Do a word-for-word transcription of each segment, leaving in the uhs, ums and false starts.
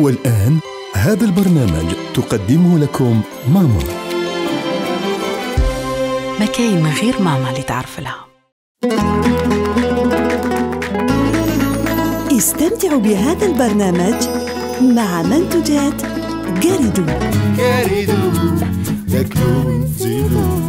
والآن هذا البرنامج تقدمه لكم ماما. ما كاين من غير ماما اللي تعرف لها. استمتعوا بهذا البرنامج مع منتجات جاريدو. جاريدو تاكلوا وتزيدوا.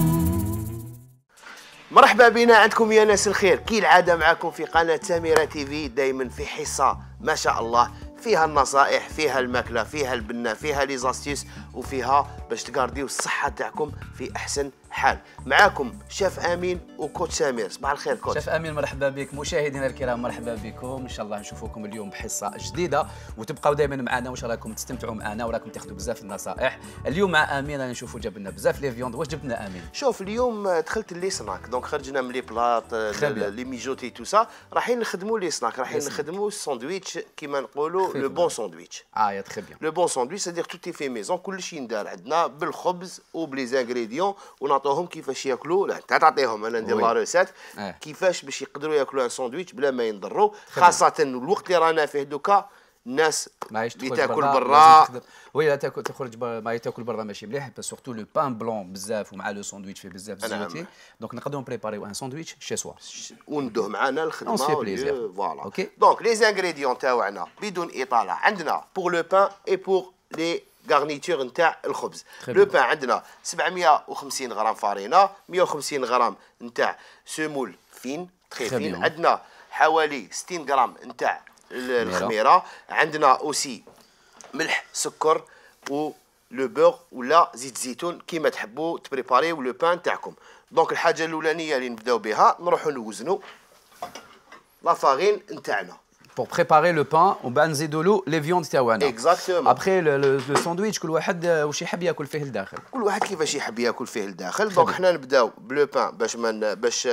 مرحبا بنا عندكم يا ناس الخير، كي العاده معكم في قناه سميرة تي في، دائما في حصه ما شاء الله فيها النصائح، فيها الماكله، فيها البنه، فيها لي زاستيس، وفيها باش تقارديو الصحه تاعكم في احسن حال. معاكم شيف امين وكوتش سمير. صباح الخير كوتش. شيف امين مرحبا بك. مشاهدينا الكرام مرحبا بكم، ان شاء الله نشوفكم اليوم بحصه جديده، وتبقاو دائما معنا وان شاء الله راكم تستمتعوا معنا وراكم تاخذوا بزاف النصائح. اليوم مع امين رانا نشوفوا جاب لنا بزاف لي فيوند. واش جبت لنا امين؟ شوف اليوم دخلت لي سناك، دونك خرجنا من لي بلاط لي ميجوتي تو سا، رايحين نخدموا لي سناك، رايحين نخدموا الساندويتش كيما نقولوا لو بون ساندويتش. اه يا تخي بيان. لو بون ساندويتش سادير توتي في ميزون، كلشي يندار عندنا بالخبز وبلي زانغريديون، ونعطوهم كيفاش ياكلوا. لا انت تعطيهم، انا ندير لا روسيت كيفاش باش يقدروا ياكلوا ان ساندويتش بلا ما ينضروا، خاصه الوقت اللي رانا فيه دوكا الناس اللي تاكل برا. وي لا تاكل تخرج ما تاكل برا ماشي مليح، بس سورتو لو بان بلون بزاف ومع لو ساندويتش فيه بزاف زيوتي. دونك نقدروا نبريباريو ان ساندويتش شي سوا وندوه معنا الخدمه. فوالا اوكي. دونك لي زانغريديون تاعنا بدون اطاله، عندنا بور لو بان اي بور لي غارنيتور نتاع الخبز. لو بان عندنا سبعمية وخمسين غرام فارينه، مية وخمسين غرام نتاع سمول فين تري فين، عندنا حوالي ستين غرام نتاع الخميره، عندنا اوسي ملح سكر و لو بور ولا زيت زيتون كيما تحبوا تبريباريو لو بان تاعكم. دونك الحاجه الاولانيه اللي نبداو بها نروحوا نوزنوا لا فارين نتاعنا pour préparer le pain ومن بعد نزيدوا له لي فيوند تاعنا. اكزاكتومون. ابخي لو ساندويتش كل واحد واش يحب ياكل فيه لداخل، كل واحد كيفاش يحب ياكل فيه لداخل. دونك حنا نبداو بلو بان باش من باش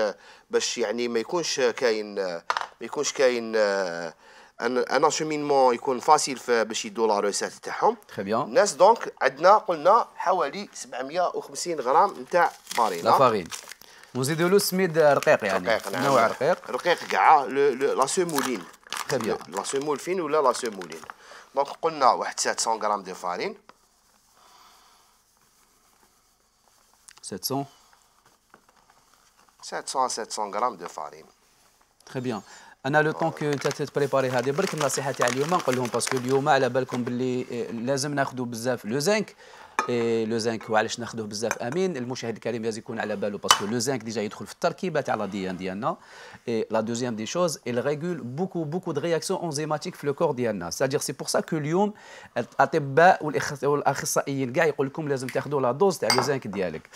باش يعني ما يكونش كاين ما يكونش كاين ان اشومينمون، يكون فاسيل باش يدوا لا روسيت تاعهم. تري بيان. الناس دونك عندنا قلنا حوالي سبعمية وخمسين غرام نتاع فارينه. لا فارين ونزيدوا له سميد رقيق، يعني رقيق. نعم. نوع رقيق رقيق كاع لا سيمولين. تري بيان. لا سيمول فين ولا لا سيمولين. دونك قلنا واحد سبعمية غرام دو فارين. سبعمية سبعمية سبعمية غرام دو فارين. تري بيان. انا لو طون كو انت تبريباري هذه برك النصيحه تاع اليوم نقول لهم، باسكو اليوم على بالكم باللي لازم ناخذوا بزاف لو زنك. اي لو زنك وعلاش ناخذوه بزاف امين؟ المشاهد الكريم لازم يكون على باله، باسكو لو زنك ديجا يدخل في التركيبه تاع لا دي ان ديالنا. اي لا دوزيام دي شوز il régule beaucoup beaucoup de réactions enzymatiques في لو كور ديالنا. c'est-à-dire c'est pour ça que اليوم الاطباء والاخصائيين كاع يقول لكم لازم تاخذوا لا دوز تاع لو زنك ديالك.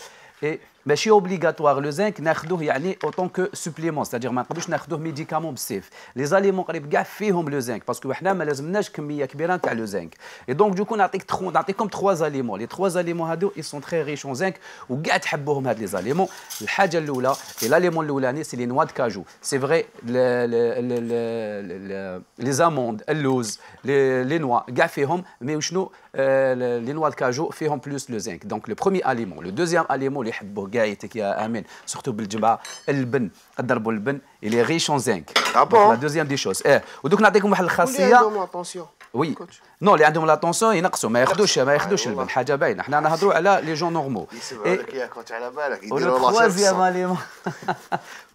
اي ماشي اوبليغاتوار لو زنك ناخذوه يعني اوتون كو سوبليمون، ستادير ما نقدروش ناخذوه ميديكامون بالسيف. لي زاليمون قريب كاع فيهم لو زنك، باسكو حنا ما لازمناش كميه كبيره تاع لو زنك. اي دونك دوكو نعطيك تخو نعطيكم تخوا زاليمون. لي تخوا زاليمون هادو اي سون تري ريش اون زنك وكاع تحبوهم هاد لي زاليمون. الحاجه الاولى لاليمون الاولاني سي لي نوا دو كاجو. سي فري لي زاموند، اللوز، لي نوا كاع فيهم، مي وشنو لي نوا دو كاجو فيهم بلوس لو زنك. دونك لو بروميي اليمون. لو دوزيام اليمون اللي يحبوه كاع يتك يا امين سورتو بالجبعه اللبن، ضربوا اللبن اللي ريش اون زنك. لا دوزيام دي شوز. اه ودوك نعطيكم واحد الخاصيه. وي نو اللي عندهم لاتونسيون ينقصوا، ما ياخذوش ما ياخذوش اللبن، حاجه باينه. حنا نهضروا على لي جون نورمو. يسمعوا لك يا كوتش على بالك يديروا لا تروازيام اليمون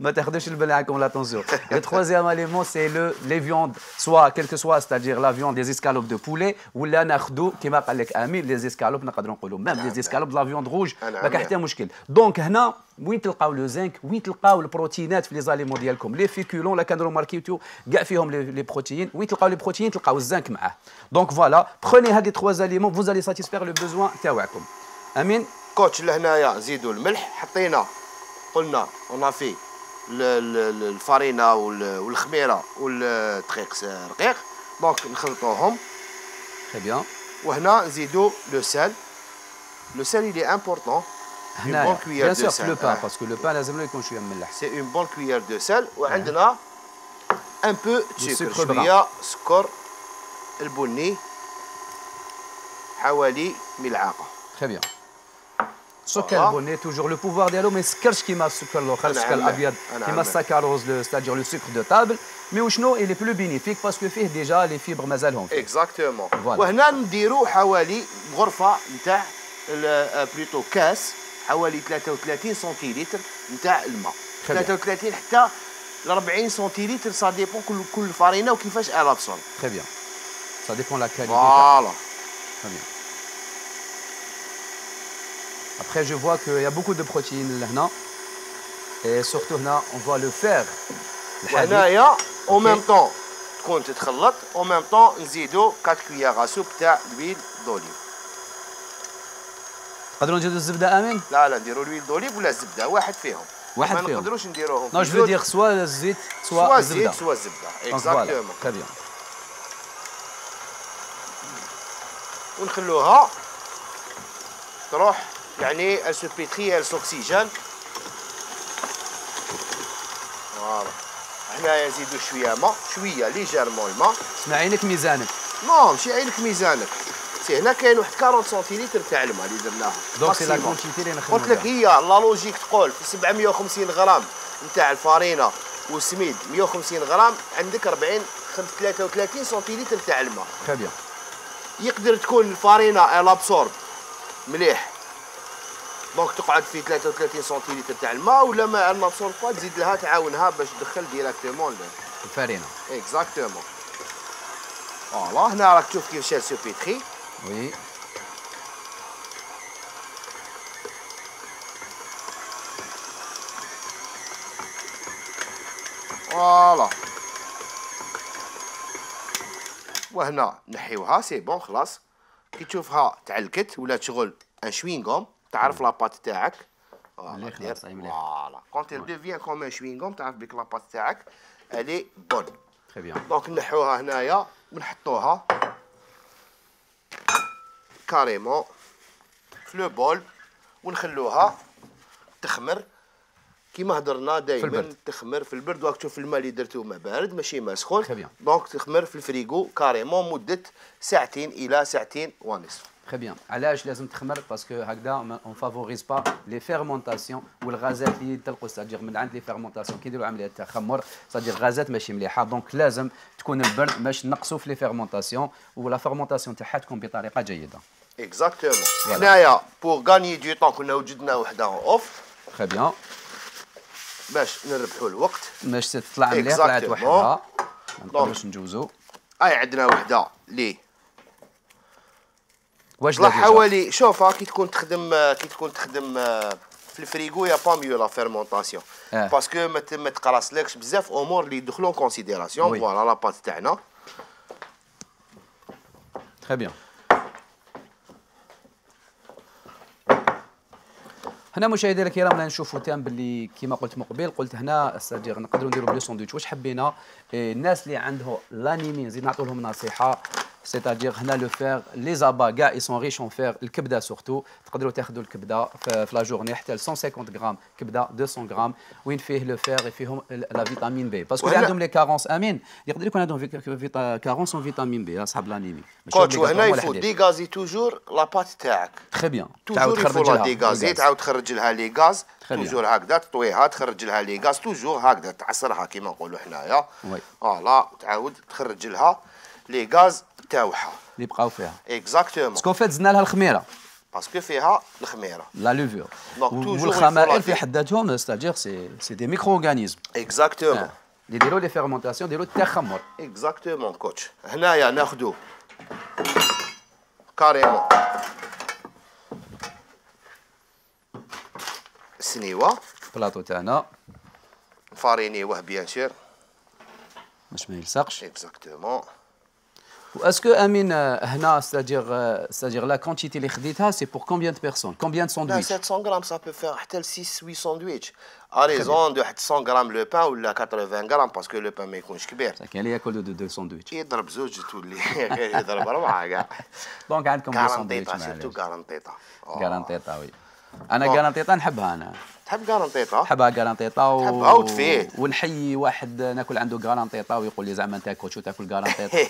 ما تاخذوش البن عندكم لاتونسيون. لو تروازيام اليمون سي لو لي فيوند سوا كيلكو سوا، ستادير لا فيوند دي اسكالوب دو بولي، ولا ناخذوا كيما قال لك امين لي اسكالوب، نقدروا نقولوا ميم لي اسكالوب لا فيوند روج، ما كاين حتى مشكل. دونك هنا وين تلقاو لو زنك، وين تلقاو البروتينات في لي زاليمون ديالكم. لي فيكولون لا كانوا ماركيتو كاع فيهم لي بروتيين، وين تلقاو لي بروتيين تلقاو الزنك معاه. دونك فوالا بروني هاد لي تخوا زاليمون فوز الي ساتيسفير لو بوزوان تاعكم. امين كوتش. لهنايا زيدوا الملح، حطينا قلنا اون في الفارينه والخميره والدقيق رقيق، دونك نخلطوهم. تري بيان. وهنا نزيدوا لو سال. لو سال il est important. هنا بيان سور لو بان، باسكو لو بان لازم له يكون شويه مملح. سي اون بون كويير دو سال. وعندنا ان بو سكر، شويه سكر البني، حوالي ملعقه. تري بيان. السكر البني توجور لو بوفوار ديالو ما يسكرش كيما السكر الاخر السكر الابيض كيما السكروز ستادير لو سكر دو تابل مي وشنو الي بلو بينيفيك باسكو فيه ديجا لي فيبر مازالهم فيه اكزاكتومون. وهنا نديروا حوالي غرفه نتاع بلوتو كاس حوالي ثلاثة وثلاثين سنتيلتر نتاع الماء، ثلاثة وثلاثين حتى ل أربعين سنتيلتر سا ديبون كل كل فارينه وكيفاش الا بصون. تري بيان سا ديبون لا كاليتي. فوالا تري بيان. Après, je vois qu'il y a beaucoup de protéines là, et surtout là, on voit le fer. وهنايا en même temps تكون تتخلط en même temps نزيدوا أربعة كويار سوب تاع l'huile d'olive. نقدروا نزيدوا الزبده امين؟ لا لا نديروا l'huile d'olive ولا الزبده واحد فيهم. واحد فيهم. ما نقدروش نديروهم. نو جو دير سوا الزيت سوا الزبده. سوا الزيت سوا الزبده. اكزاكتومون. تري بيان. ونخلوها تروح يعني elle se pétrit elle s'oxygène. فوالا. هنايا نزيدو شويه ماء شويه ليجيرمون الماء. اسمع عينك ميزانك. نو ماشي عينك ميزانك. سي هنا كاين واحد أربعين سنتيلتر تاع الماء اللي درناها. دونك سي لا كونتيتي اللي نخدمو. قلت لك هي لا لوجيك تقول في سبعمية وخمسين غرام نتاع الفارينه والسميد مية وخمسين غرام عندك أربعين ثلاثة وثلاثين سنتيلتر تاع الماء. تري بيان. يقدر تكون الفارينه الابسورب مليح دونك تقعد في ثلاثة وثلاثين سنتيلتر تاع الماء ولا ما الابسورب با تزيد لها تعاونها باش تدخل ديراكتومون الفارينه. اكزاكتومون. فوالا هنا راك تشوف كيفاش سو بيتري. وي. فوالا. وهنا نحيوها سي بون خلاص. كي تشوفها تعلكت ولا شغل ان شوينغوم تعرف لاباط تاعك. مليح خلاص مليح. فوالا كونت il devient comme un chewing-gum تعرف بك لاباط تاعك الي بون. تري بيان. دونك نحوها هنايا ونحطوها كاريمون في لو بول ونخلوها تخمر كيما هضرنا دائما تخمر في البرد. وقت تشوف الماء اللي درتو ما بارد ماشي ما سخون دونك تخمر في الفريغو كاريمون مده ساعتين الى ساعتين ونصف. Très bien. علاش لازم تخمر باسكو هكذا on favorise pas les fermentations والغازات اللي تلقوا ستادير من عند لي فيرمونطاسيون كي يديروا عمليه تخمر ستادير غازات ماشي مليحه دونك لازم تكون البرد باش نقصوا في لي فيرمونطاسيون ولا فيرمونطاسيون تاعها تكون بطريقه جيده. اكزاكتومون. هنايا بور غاني دو طون كنا وجدنا وحده اوف. تري بيان. باش نربحوا الوقت باش تطلع مليح طلعت وحدها ما نقدروش نجوزو. اي عندنا وحده لي واش طلع حوالي شوفها كي تكون تخدم كي تكون تخدم في الفريغو يا با ميو لا فيرمونطاسيون باسكو ما تقراصلكش بزاف امور اللي يدخلوا كونسيديراسيون. فوالا لاباط تاعنا. تري بيان. هنا مشاهدينا الكرام رانا نشوفوا تام باللي كيما قلت مقبل قلت هنا استاجير نقدروا نديروا بلو ساندويتش واش حبينا الناس اللي عندهم لانيمي نزيد نعطوا لهم نصيحه سيتادير هنا لو فير لي زابا كاع اي سون ريش اون فير الكبده سورتو تقدروا تاخذوا الكبده في لا جورني حتى ل مئة وخمسين غرام كبده مئتين غرام وين فيه لو فير فيهم لا فيتامين بي باسكو اللي عندهم لي كارونس امين يقدر يكون عندهم كارونس اون فيتامين بي اصحاب لانيمي. كوتش وهنا يفوت ديغازي توجور لاباط تاعك. تري بيان. تعاود تخرج لها ديغازي تعاود تخرج لها لي غاز توجور هكذا تطويها تخرج لها لي غاز توجور هكذا تعصرها كيما نقولوا حنايا. فوالا تعاود تخرج لها لي غاز تاعها اللي بقاو فيها. اكزاكتومون. باسكو فات زدنا لها الخميره باسكو فيها الخميره لا لوفور والخمائر في حد ذاتهم ستادير سي سي دي ميكرو اورغانيزم. اكزاكتومون. اللي يديروا لي فيرمونطاسيون يديروا التخمر. اكزاكتومون كوتش. هنايا ناخذوا كاريمون السنيوه بلاطو تاعنا نفارينيوه بيان سور باش ما يلصقش. اكزاكتومون. واسكو امين هنا ستادير ستادير لا كونتيتي اللي خديتها سي بور كومبيان دو بيرسون كومبيان دو ساندويتش؟ سبعمية غرام سا بو فير حتى ل ستة ثمانية ساندويتش ا ريزون دو حتى مية غرام لو بان ولا ثمانين غرام باسكو لو بان ما يكونش كبير. كاين اللي ياكل دو دو ساندويتش يضرب زوج تولي يضرب اربعه كاع. دونك عندكم دو ساندويتش سيرتو كارانتيطا. كارانتيطا وي. انا كارانتيطا نحبها انا. تحب كارانتيطا؟ نحبها كارانتيطا و... تحبها وتفيد. ونحيي واحد ناكل عنده كارانتيطا ويقول لي زعما انت كوتشو تاكل كارانتيطا.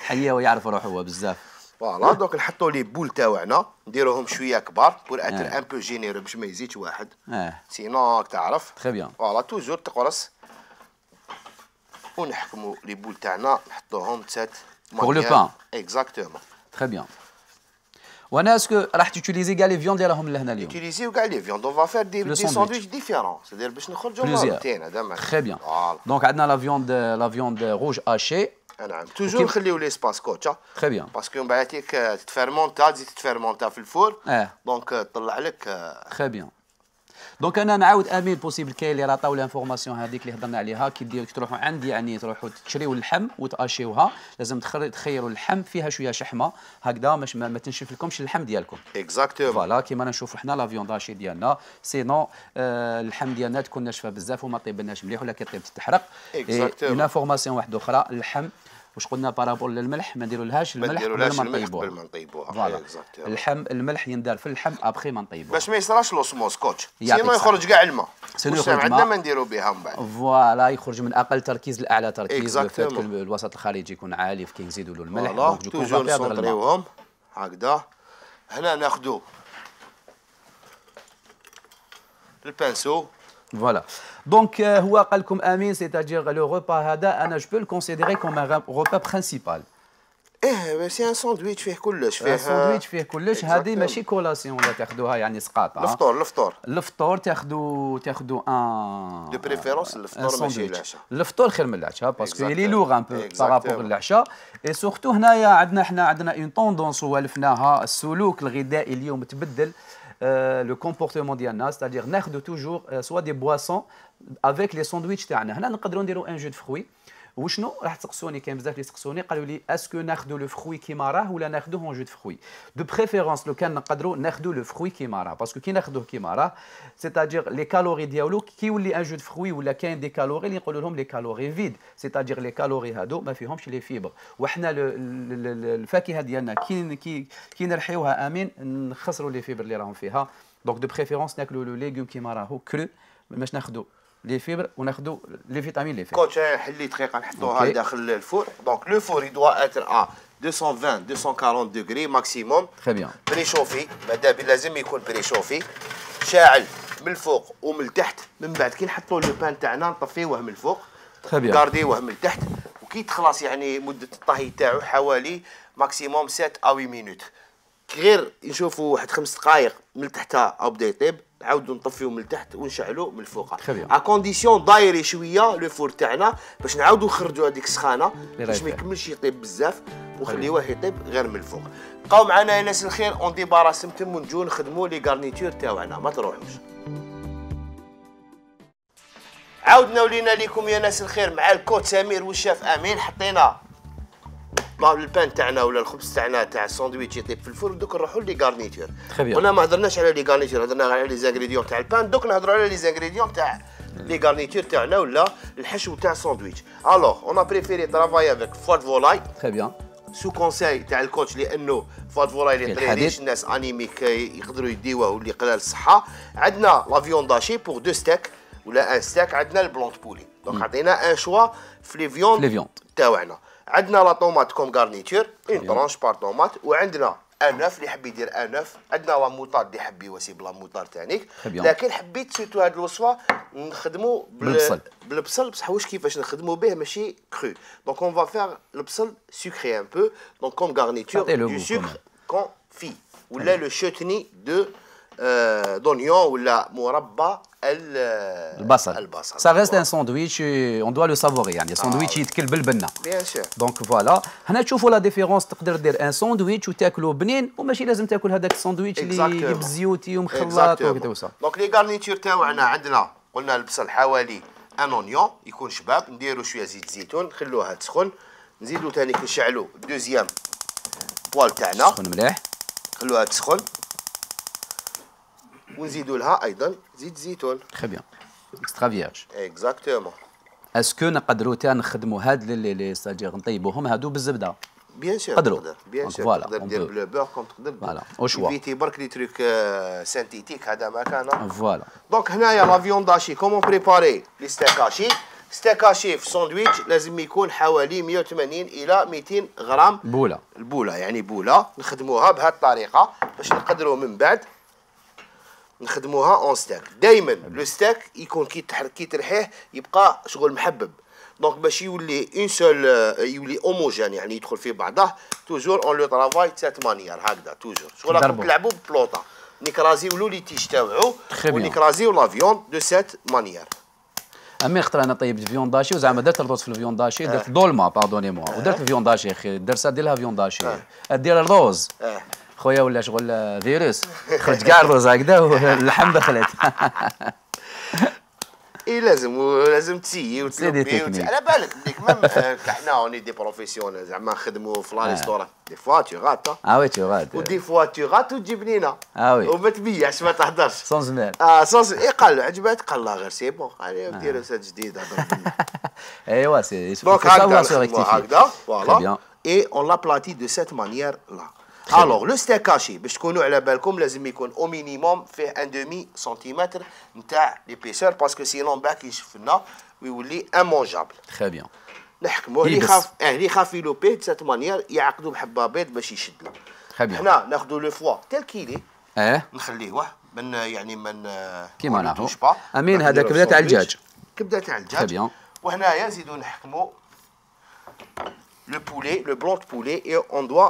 حيه ويعرف روحه هو بزاف. فوالا دونك نحطوا لي بول تاوعنا نديروهم شويه كبار بور اتر ان بو جينيرو باش ما يزيدش واحد اه سينو تعرف تري بيان فوالا توجور تقرص ونحكموا لي بول تاعنا نحطوهم تسات بور لو بان اكزاكتومون تري بيان. وانا اسكو راح تيوتيليزي كاع لي فيوند اللي راهم لهنا اليوم utiliser كاع لي فيوند اون فا فير دي دي ساندويتش ديفيرون سيدير باش نخرجوا مرتين هذا معناتها تري بيان. دونك عندنا لا فيوند لا فيوند روج هاشي نعم توجور نخليو لي سباس كوتشا تري بيان باسكو من بعد هيك تتفيرمونتا تزيد تتفيرمونتا في الفور اه دونك تطلع لك تري بيان. دونك انا نعاود امين بوسيبل كاين اللي راه عطاو لانفورماسيون هذيك اللي هضرنا عليها كي ديروا تروحوا عندي يعني تروحوا تشريوا اللحم وتاشيوها لازم تخيروا اللحم فيها شويه شحمه هكذا باش ما, ما تنشف لكمش اللحم ديالكم اكزاكتومون فوالا كيما نشوفوا حنا لا فيوند هاشي ديالنا سينو آه اللحم ديالنا تكون ناشفه بزاف وما طيبناش مليح ولا كيطيب تتحرق. اكزاكتومون اون انفورماسيون واحده اخرى اللحم واش قلنا بارابور للملح ما نديرولهاش الملح قبل ما نطيبوها قبل ما نطيبوها فوالا اللحم الملح يندار في اللحم ابخي ما نطيبوه باش ما يصراش لوسموس كوتش سينو يخرج كاع الماء سينو يخرج عندنا ما نديرو بها من بعد فوالا يخرج من اقل تركيز لاعلى تركيز اكزاكتومون الوسط الخارجي يكون عالي كي نزيدوا له الملح دونك توجور نسونطريوهم هكذا. هنا ناخذوا البانسو فوالا دونك هو قال لكم امين سيتاجير لو روبا هذا انا جو بو الكونسيديري كوم ان روبا برينسيبال. ايه سي ان ساندويتش فيه كلش فيه ساندويتش فيه كلش هذه ماشي كولاسيون ولا تاخذوها يعني سقاطه الفطور الفطور الفطور تاخذوا تاخذوا ان دو بريفيرونس الفطور ماشي العشاء الفطور خير من العشاء باسكو لي لوغ ان بو بارابور للعشاء اي سورتو هنايا عندنا حنا عندنا اون طوندونس والفناها السلوك الغذائي اليوم تبدل لو كومبورتمون ديالنا ستادير ناخذوا توجور سوا دي بواسون افيك لي ساندويتش تاعنا. هنا نقدروا نديروا ان جو دو فروي وشنو راح تسقسوني كاين بزاف اللي يسقسوني قالوا لي اسكو ناخذوا لو فروي كيما راه ولا ناخذوه اون جو دو فروي دو بريفيرونس لو كان نقدروا ناخذوا لو فروي كيما راه باسكو كي ناخذوه كيما راه سيتادير لي كالوري ديالو كي يولي ان جو دو فروي ولا كاين دي كالوري اللي نقولوا لهم لي كالوري فيد سيتادير لي كالوري هادو ما فيهمش لي فيبر وحنا الفاكهه ديالنا كي كي كي نرحيوها امين نخسروا لي فيبر اللي راهم فيها دونك دو بريفيرونس ناكلوا لو ليغوم كيما راهو كرو باش ناخذوا لي فيبر وناخذوا لي فيتامين لي فيبر. كوتش حلي دقيقه نحطوها داخل الفور دونك لو فور يدوا اتر ا deux cent vingt deux cent quarante دوغري ماكسيموم تري بيان بريشوفي ماذا بي لازم يكون بريشوفي شاعل من الفوق ومن التحت من بعد كي نحطوا لو بان تاعنا نطفيوه من الفوق تري بيان كارديوه من التحت وكي تخلص يعني مده الطهي تاعو حوالي ماكسيموم سبعة او ثمانية مينوت غير نشوفوا واحد خمس دقائق من التحت او بدا يطيب نعاودوا نطفيو من التحت ونشعلوا من الفوق ا كونديسيون دايري شويه لو فور تاعنا باش نعاودوا نخرجوا هذيك السخانه باش ما يكملش يطيب بزاف ونخليوه يطيب غير من الفوق. بقاو معنا يا ناس الخير اون ديباراس نتم ونجيو نخدموا لي غارنيتور تاعنا ما تروحوش. عاودنا ولينا لكم يا ناس الخير مع الكوت سمير والشاف امين حطينا البان تاعنا ولا الخبز تاعنا تاع الساندويتش يطيب في الفرن دوك نروحوا لي غارنيتور. قلنا ما هضرناش على لي غارنيتور هضرنا على لي زانغريديون تاع البان دوك نهضروا على لي زانغريديون تاع لي غارنيتور تاعنا ولا الحشو تاع الساندويتش. الوغ اون ا بريفيري ترافاي افيك فوات فولاي تري بيان سو كونساي تاع الكوتش لانه فوات فولاي اللي طريليش الناس انيميك يقدروا يديوه واللي قلال الصحه. عندنا لا فيوند هاشي بور دو ستيك ولا ان ستيك عندنا البلونط بولي دونك عطينا ان شوا في لي فيوند تاعنا. عندنا لا طوماط كوم غارنيتور اون طرونش بار طوماط وعندنا انوف اللي يحب يدير انوف عندنا لا موطار اللي يحب يواسي بلا موطار تانيك لكن حبيت سيرتو هاد الوصفه نخدموا بالبصل بالبصل بصح واش كيفاش نخدموا به ماشي كرو دونك اون فا فيغ البصل سكري ان بو دونك كوم غارنيتور دو سكر كونفي ولا لو شوتني دو دونيون ولا مربى البصل البصل سا ريست ان ساندويتش اون دوا لو سافوري يعني ساندويتش يتكل بالبنه بيان سور دونك فوالا هنا تشوفوا لا ديفيرونس تقدر دير ان ساندويتش وتاكلو بنين وماشي لازم تاكل هذاك الساندويتش اللي بزيوتي ومخلط وكذا. دونك لي غارنيتور تاعنا عندنا قلنا البصل حوالي ان اونيون يكون شباب نديروا شويه زيت زيتون نخلوها تسخن نزيدوا ثاني نشعلوا دوزيام بوال تاعنا تسخن مليح نخلوها تسخن ونزيدوا لها ايضا زيت زيتون. تري بيان اكسترا فيرج اكزاكتومون. اسكو نقدروا تا نخدموا هاد لي لي ستاجير نطيبوهم هادو بالزبده بيان سور تقدروا بيان سور تقدر دير بلو بور كوم تقدر فوالا او شوا فيتي برك لي تروك سانتيتيك هذا ما كان فوالا. دونك هنايا لا فيوند هاشي كومون بريباري لي ستيك هاشي ستيك هاشي في ساندويتش لازم يكون حوالي مية وثمانين الى مئتين غرام بوله. البوله يعني بوله نخدموها بهذه الطريقه باش نقدروا من بعد نخدموها اون ستيك. دائما لو ستيك يكون كي كي ترحيه يبقى شغل محبب، دونك باش يولي اون سول يولي اوموجين يعني يدخل في بعضه توجور اون لو ترافاي سات مانيير هكذا توجور شغل راكم تلعبوا ببلوطه نكرازيو لي تيش تاوعو ونكرازيو لا فيوند دو سات مانيير. امي خاطر انا طيبت فيونداشي وزعما درت الروز في الفيونداشي درت دولما باردوني موا ودرت الفيونداشي اخي الدرسه ديرها فيونداشي دير الروز خويا ولا شغل فيروس خرج كاع الروز هكذا واللحم دخلت. اي لازم لازم تسيي وتلبي على بالك بليك ميم حنا اوني دي بروفيسيونيل زعما نخدموا في لا ريستوران دي فوا تو غات اه وي تو غات ودي فوا تو غات وتجيب لينا اه وي وما تبيعش ما تهدرش سون زمان اه سون اي قال له عجباتك قال لا غير سي بون خلينا نديرو سات جديد هضر ايوا سي دونك هكذا فوالا اي اون لا بلاتي دو سيت مانيير لا. الوغ لو ستيك هاشي باش تكونوا على بالكم لازم يكون او مينيموم فيه ان دومي سنتيمتر نتاع ليبيسور باسكو سينون باك يشف لنا ويولي امونجابل. تري بيان نحكموه اللي خاف اه اللي خاف يلوبي دو سيت مانيير يعقدوا بحبه بيض باش يشد له. تري بيان حنا ناخذوا لو فوا تيل كيلي اه نخليوه من يعني من كيما نعرفوا امين هذا كبده تاع الدجاج كبده تاع الدجاج. تري بيان وهنايا نزيدو نحكموا لو بولي لو بلون دو بولي اي اون دوا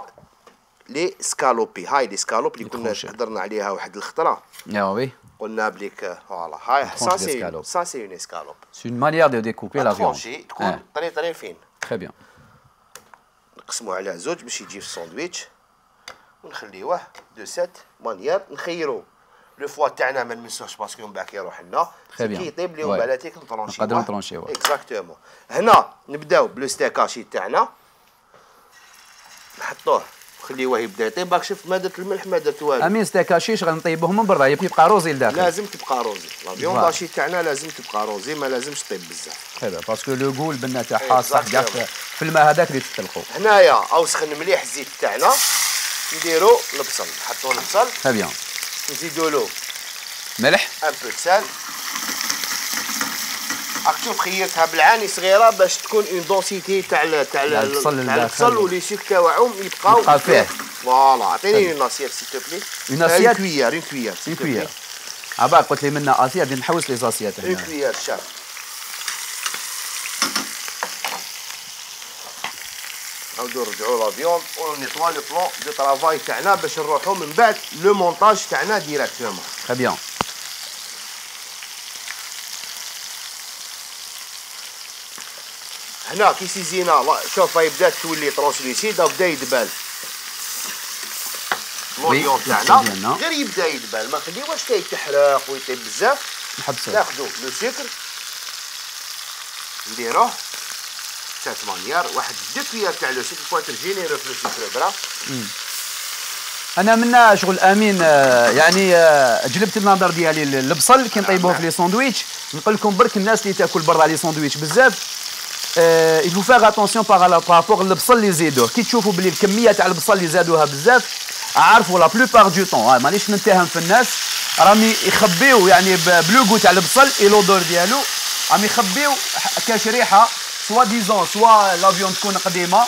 لي سكالوبي. هاي لي سكالوب اللي كنا هضرنا عليها واحد الخطره. يا وي قلنا بليك فوالا هاي سا سي سا سي اون اسكالوب سي اون مانيير دو ديكوبي لا فيوند تكون طري طري فين. تري بيان نقسموه على زوج باش يجي في الساندويتش ونخليوه دو سيت مانيير. نخيرو لو فوا تاعنا ما نمسوهش باسكو من بعد كيروح لنا كي يطيب لي ومن بعد تيك نطرونشيوه نقدروا نطرونشيوه اكزاكتومون. هنا نبداو بلو ستيك هاشي تاعنا نحطوه خليوه يبدا يطيب. باك شفت ما درت الملح ما درت والو. امين ستيك هاشي شغل نطيبوه من برا يبقى روزي لداخل. لازم تبقى روزي لا فيوند هاشي تاعنا لازم تبقى روزي ما لازمش طيب بزاف. هذا باسكو لو غول البنه تاعها صح كاع في الماء هذاك اللي تطلقوا. هنايا او سخن مليح الزيت تاعنا نديرو البصل نحطو البصل. تري بيان نزيدو له ملح ان بو سال. راك تشوف خيرتها بالعاني صغيره باش تكون اون دونسيتي تاع تاع البصل ولي سيك تاعهم يبقاو فيه. فوالا عطيني اون اسيات سي تو بلي. اون اسيات كويار اون كويار اون كويار عباك قلت لي منا اسيات بدي نحوس لي زاسيات هنا. اون كويار شاف نعاودو نرجعو لا فيوند ونيطوا لو بلون دو طرافاي تاعنا باش نروحو من بعد لو مونتاج تاعنا ديراكتومون. تري بيان هنا كي سيزينا شوف هاي بدات تولي ترونسلوسيد بدا يدبال لونيون تاعنا غير يبدا يدبال ما نخليوهش كيتحرق ويطيب بزاف. نحبسو ناخذو لو سكر نديروه سات مانيير واحد دو كويار تاع لو سكر بواتر جينيرو في لو سكر برا. انا منا شغل امين يعني جلبت النظر ديالي البصل كي نطيبوه في لي ساندويتش نقول لكم برك الناس اللي تاكل برا لي ساندويتش بزاف il faut faire attention par rapport البصل اللي يزيدوه. كي تشوفوا بلي الكميه تاع البصل اللي زادوها بزاف عارفوا لا بلوبار دو طون مانيش نتهم في الناس راهم يخبيو يعني بلوغو تاع البصل اي لودور ديالو راهم يخبيو كاش ريحه سوا ديزون سوا لا فيوند تكون قديمه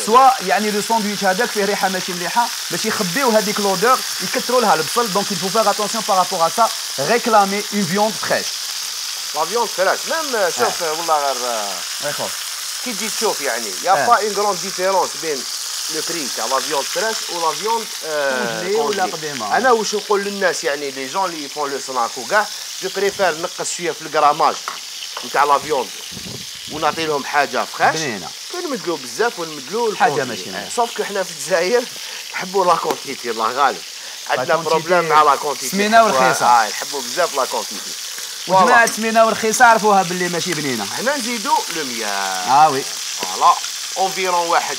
سوا يعني لو ساندويتش هذاك فيه ريحه ماشي مليحه باش يخبيو هذيك لودور يكثروا لها البصل. دونك il faut faire attention par rapport à ça réclamer une viande fraîche. لا فيوند فريش ميم شوف والله غير كي تجي تشوف يعني يا با اون غروند ديفيرونس بين لو بري تاع لا فيوند فريش و لا فيوند ولا قديمه. انا واش نقول للناس يعني لي جون اللي يفون لو سناك وكاع جو بريفير نقص شويه في الكراماج نتاع لا فيوند ونعطي لهم حاجه فريش بنينه كنمدلو بزاف ونمدلو حاجه ماشي سوف كو حنا في الجزائر نحبوا لا كونتيتي الله غالب عندنا بروبليم مع لا كونتيتي سمينه ورخيصه. اه نحبوا بزاف لا كونتيتي وجماعة سمينة ورخيصة عرفوها باللي ماشي بنينة. هنا نزيدو لو مياه. اه وي فوالا اونفيرون واحد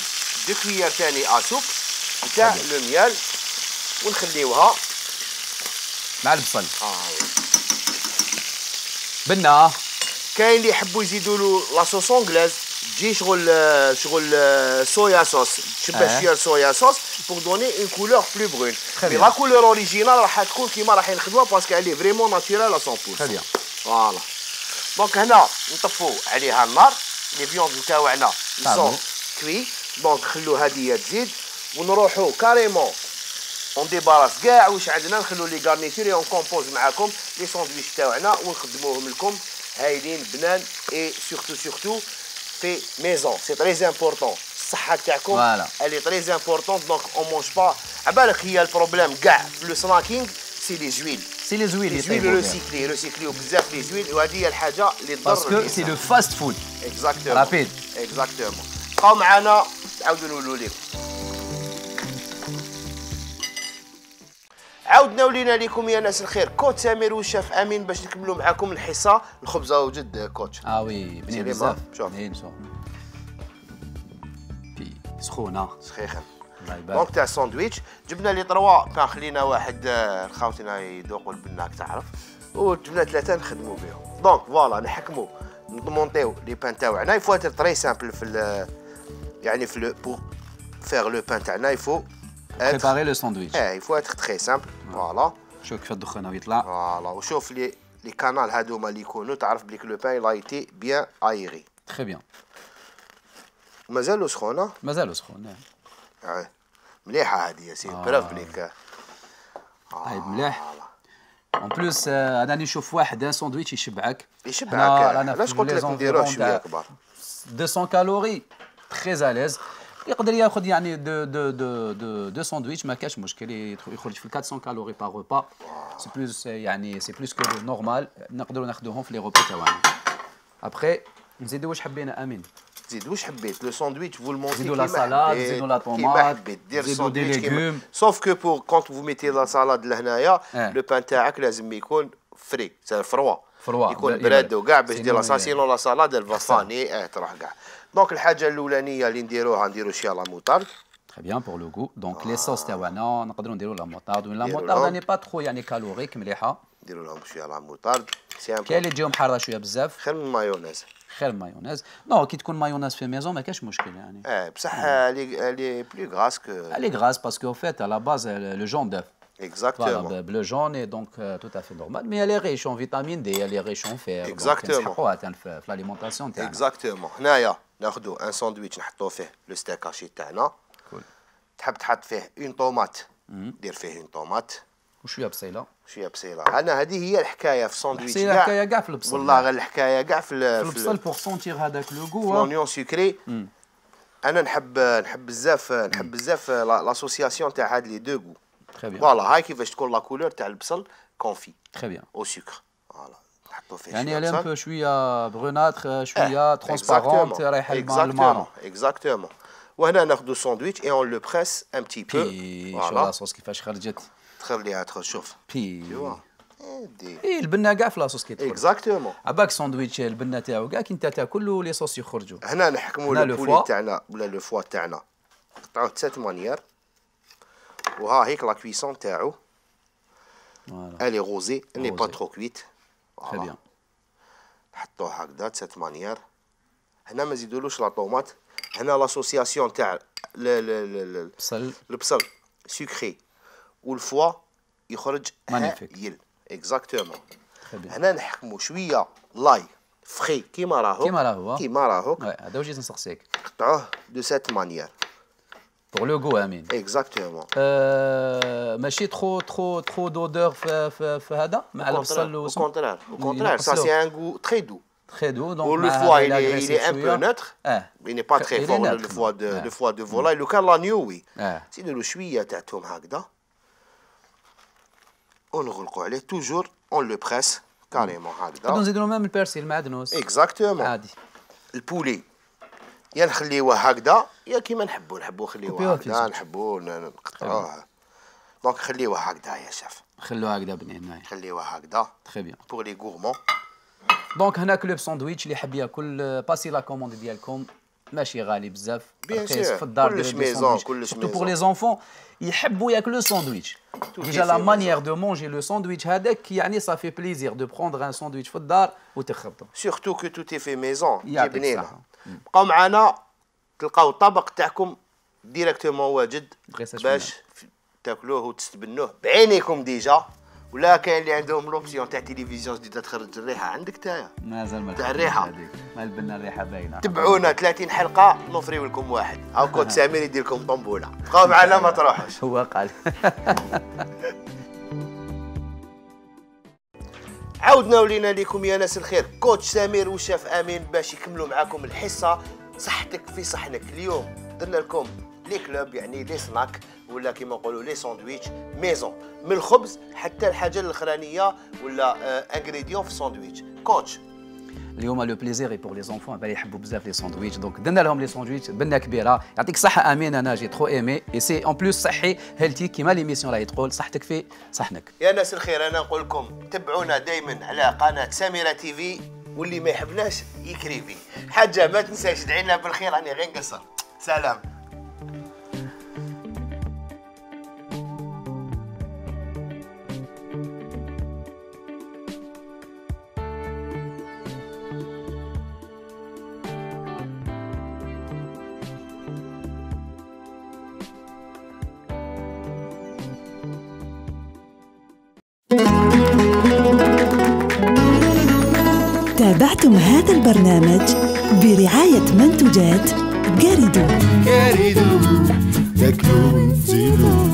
دو كويار ثاني اسوك تاع لو ميال ونخليوها مع البصل. اه وي بنا كاين اللي يحبوا يزيدوا له لا صوص انجلاز تجي شغل شغل صويا صوص تشبه شويه صويا صوص بور دوني اون كولور بلو برون. مي لا كولور اوريجينال راح تكون كيما راح نخدموها باسكو عليه فريمون ناتورال مية بالمية. تري بيان فوالا دونك هنا نطفوا عليها النار. لي فيوند نتاوعنا يسون كوي. دونك نخلو هادي تزيد ونروحوا كاريمون اون ديباراس كاع واش عندنا، نخلو لي غارنيتور اون كومبوز معاكم لي ساندويتش تاوعنا ونخدموهم لكم هايلين بنان. اي سورتو سورتو في ميزون سي تري امبورطون. الصحه تاعكم الي تري امبورطون. دونك اون مونج با. عبالك هي البروبليم كاع في لو سناكينغ سي لي زويل. سي لي زويل لي زويل ريسيكلي ريسيكليو بزاف لي زويل، وهذه هي الحاجه اللي تضر باسكو سي لو فاست فود. اكزاكتومون رابيد. اكزاكتومون. بقاو معنا نعاودو نقولوا لكم. عاودنا ولينا لكم يا ناس الخير كوت سمير والشيف امين باش نكملوا معكم الحصه. الخبزه وجد كوتش. اه وي بنين بزاف. شوف بنين شوف بي سخونه سخيخه. الله يبارك. دونك تاع الساندويتش جبنا لي تروا بان، خلينا واحد خاوتنا يذوقوا البناك تعرف، وجبنا ثلاثه نخدموا بهم. دونك فوالا نحكموا نمونطيو لي بان تاعنا. يفوا اتر تري سامبل في يعني في لو بور فيغ لو بان تاعنا يفو بريباري لو ساندويتش. اه يفوا اتر تري سامبل. فوالا شوف كيف الدخان يطلع. فوالا وشوف لي لي كانال هادوما اللي يكونوا تعرف بليك لو بان لا ايتي بيان ايري. تري بيان. مازالو سخونه؟ مازالو سخون. اه مليحه هذه يا سيدي. بروف بليك طيب مليح. اون بلوس انا نشوف واحد ان ساندويتش يشبعك. يشبعك. علاش قلت لك نديروه شويه كبار. مئتين كالوري تري اليز. يقدر ياخذ يعني دو دو دو دو دو ساندويتش ما كاش مشكل، يخرج في أربعمية كالوري باغ روبا. سي بلوس يعني سي بلوس كو نورمال، نقدروا ناخذوهم في لي روبا تاعنا. ابخي نزيدوا واش حبينا امين. زيد واش حبيت لو ساندويتش فو المونتي زيدوا لا سالاد، زيدوا لا طوماط، زيدوا دي ليغوم. سوف كو بور كونت فو ميتي لا سالاد لهنايا لو بان تاعك لازم يكون فري سي فروا فروا يكون براد وكاع باش دير لا ساسينو لا سالاد الفاساني اه تروح كاع. دونك الحاجه الاولانيه اللي نديروها نديرو شويه لا موطارد. Très bien pour le goût. Donc les sauces تاعنا نقدروا نديروا لا موطارد. لا موطارد ني با ترو يعني كالوريك مليحه. نديروا لهم شويه لا موطارد. كاين اللي تجيهم حاره شويه بزاف. خير من المايونيز. خير مايونيز. نو كي تكون مايونيز في ميزون ما كاش مشكل يعني. اه بصح لي لي بلو غراس كو. لي غراس باسكو فيت على باز لو جون دœuf. Exactement. Voilà, bleu jaune et donc euh, tout à fait normal. Mais elle est riche en vitamine D, elle est riche en fer. Exactement. في l'alimentation تاعنا. Exactement. هنايا ناخذوا ان ساندويتش نحطوه فيه لو ستيك هاشي تاعنا. كول. تحب تحط فيه اون طوماط دير فيه اون طوماط وشويه بصيله. شويه بصيله. انا هذه هي الحكايه في الساندويتش كاع. الحكايه كاع في البصل. والله غير الحكايه كاع في في البصل بور سونتير هذاك لو غو. لونيون سكري. انا نحب نحب بزاف نحب بزاف لاسوسياسيون تاع هاد لي دو غو. تري بيان. فوالا هاي كيفاش تكون لا كولور تاع البصل كونفي. تري بيان. او سكر. فوالا نحطو فيه يعني elle est un peu شويه بروناتر شويه ترونسبارونت رايحه المارون. اكزاكتومون. وهنا ناخذ ساندويتش اي اون لو بريس ان بتي بو. شوف لاصوص كيفاش خرجت. تخليها تخرج شوف. بي. دي. اي البنه كاع في لاصوص كيدخل. اكزاكتومون. عباك ساندويتش البنه تاعو كاع كي انت تاكل لي صوص يخرجوا. هنا نحكموا البولي تاعنا ولا لو فوا تاعنا نقطعوه تسات مانيير. وها هيك لا كويسون تاعو. فوالا. الي غوزي ني با ترو كويت. تري بيان. نحطوه هكذا تسات مانيير. هنا ما نزيدولوش لا طوماط. هنا لاسوسياسيون تاع البصل البصل سكري والفوا يخرج هايل. اكزاكتومون. هنا نحكموا شويه لاي فري كيما راهو كيما راهو كيما راهو. هذا واش نسقسيك. قطعوه دو سيت مانيير بور لو غو امين. اكزاكتومون. ماشي ترو ترو ترو دودور في في, في هذا مع البصل. او كونترير او كونترير سا سي ان غو تري دو. Très doux, donc le foie il est, il est un peu neutre, ah. il n'est pas très il fort neutre, le foie de ah. le foie de volaille. لو كان لانيو وي سيديروا شويه تاعتهم هكذا ونغلقوا عليه توجور اون لو بريس كاريمون هكذا. نقدروا نزيدوا ميم البرسيل معدنوس. اكزاكتومون. عادي. البولي يا نخليوه هكذا يا كيما نحبوا نحبوا نخليوه هكذا نحبوا نقطعوه. دونك خليوه هكذا يا شيف. خلوه هكذا بنين. خليوه هكذا. تري بيان. بور لي غورمون. دونك هنا كلوب ساندويتش اللي حاب ياكل باسي لا كوموند ديالكم ماشي غالي بزاف. بيان سور في الدار كلش ميزون كلش ميزون. بور لي زونفون يحبوا ياكلوا ساندويتش. ديجا لا مانيير دو مونجي لو ساندويتش هذاك يعني صافي بليزير دو بروندر ان ساندويتش في الدار وتخبطو. سورتو كو تو تي في ميزون كي بنينه. بقاو معنا تلقاو الطبق تاعكم ديريكتومون واجد باش تاكلوه وتستبنوه بعينيكم ديجا ولا كاين اللي عندهم لوبسيون تاع تلفزيون جديده تخرج الريحه عندك تاعها مازال ما تاع الريحه ما البنا الريحه باينه. تبعونا ثلاثين حلقه نوفريو لكم واحد هاو كود سمير يدير لكم طنبوله بقاو معنا ما تروحوش. هو قال عاودنا ولينا لكم يا ناس الخير كوتش سمير والشاف امين باش يكملوا معاكم الحصه صحتك في صحنك. اليوم درنا لكم لي كلوب يعني لي سناك ولا كيما نقولوا لي ساندويتش ميزون من الخبز حتى الحاجه الاخرانيه ولا انغريديون في الساندويتش. كوتش اليوم لو بليزير بور لي زونفون بالي يحبوا بزاف لي ساندويتش دونك درنا لهم لي ساندويتش بنه كبيره. يعطيك الصحه امين انا جي ترو ايمي اي سي اون بلوس صحي هيلتي كيما ليميسيون راهي تقول صحتك في صحنك. يا ناس الخير انا نقول لكم تبعونا دائما على قناه سميره تي في واللي ما يحبناش يكريفي. حاجه ما تنساش ادعي لنا بالخير راني غير نقصر. سلام. تابعتم هذا البرنامج برعاية منتجات جاريدو. جاريدو تاكلوا وتزيدوا.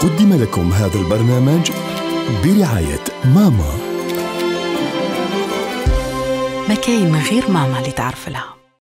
قدم لكم هذا البرنامج برعاية ماما. ما كاين غير ماما اللي تعرف لها.